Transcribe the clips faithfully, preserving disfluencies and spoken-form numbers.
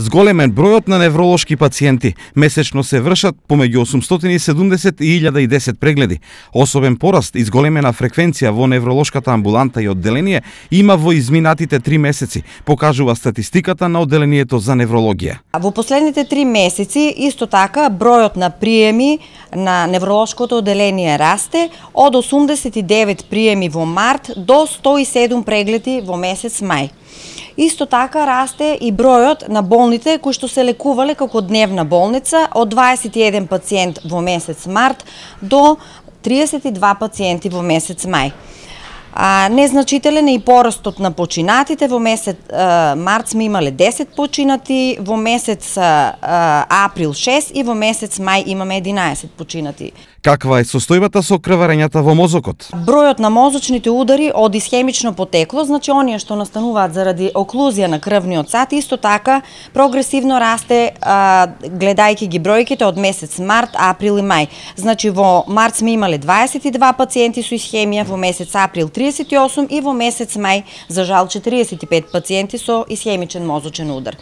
Зголемен бројот на невролошки пациенти. Месечно се вршат помеѓу осумстотини и седумдесет и илјада и десет прегледи. Особен пораст и зголемена фреквенција во невролошката амбуланта и одделение има во изминатите три месеци, покажува статистиката на одделението за неврологија. Во последните три месеци исто така бројот на приеми на невролошкото одделение расте од осумдесет и девет приеми во март до сто и седум прегледи во месец мај. Исто така расте и бројот на болните кои што се лекувале како дневна болница од дваесет и еден пациент во месец март до триесет и два пациенти во месец мај. А, незначителен е и порастот на починатите. Во месец а, март сме имале десет починати, во месец а, април шест и во месец мај имаме единаесет починати. Каква е состојбата со крварењата во мозокот? Бројот на мозочните удари од исхемично потекло, значи оние што настануваат заради оклузија на крвниот сат, исто така прогресивно расте а, гледајќи ги бројките од месец март, април и мај. Значи во март сме имале дваесет и два пациенти со исхемија, во месец април триесет и осум и во месец мај за жал четириесет и пет пациенти со исхемичен мозочен удар.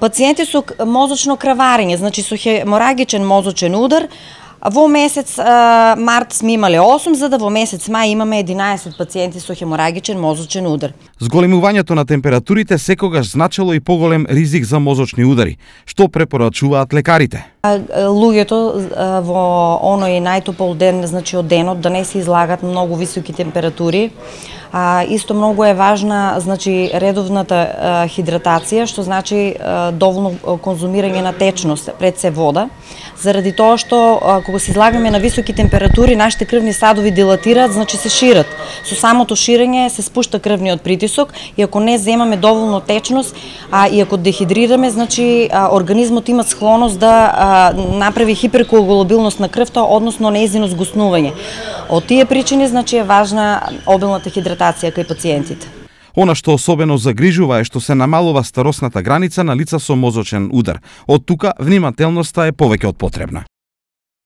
Пациенти со мозочно крварење, значи со хеморагичен мозочен удар, во месец а, март сме имале осум, за да во месец мај имаме единаесет пациенти со хеморагичен мозочен удар. Зголемувањето на температурите секогаш значело и поголем ризик за мозочни удари. Што препорачуваат лекарите? Луѓето во оној најтопол ден, значи од денот, да не се излагат многу високи температури. А, исто многу е важна, значи, редовната а, хидратација, што значи а, доволно конзумирање на течност, пред се вода, заради тоа што а, кога се излагаме на високи температури, нашите крвни садови дилатираат, значи се шират. Со самото ширење се спушта крвниот притисок и ако не земаме доволно течност, а и ако дехидрираме, значи а, организмот има склоност да а, направи хиперкоагулабилност на крвта, односно нејзино згуснување. Од тие причини, значи, е важна обилната хидратација кај пациентите. Она што особено загрижува е што се намалува старосната граница на лица со мозочен удар. Од тука внимателноста е повеќе од потребна.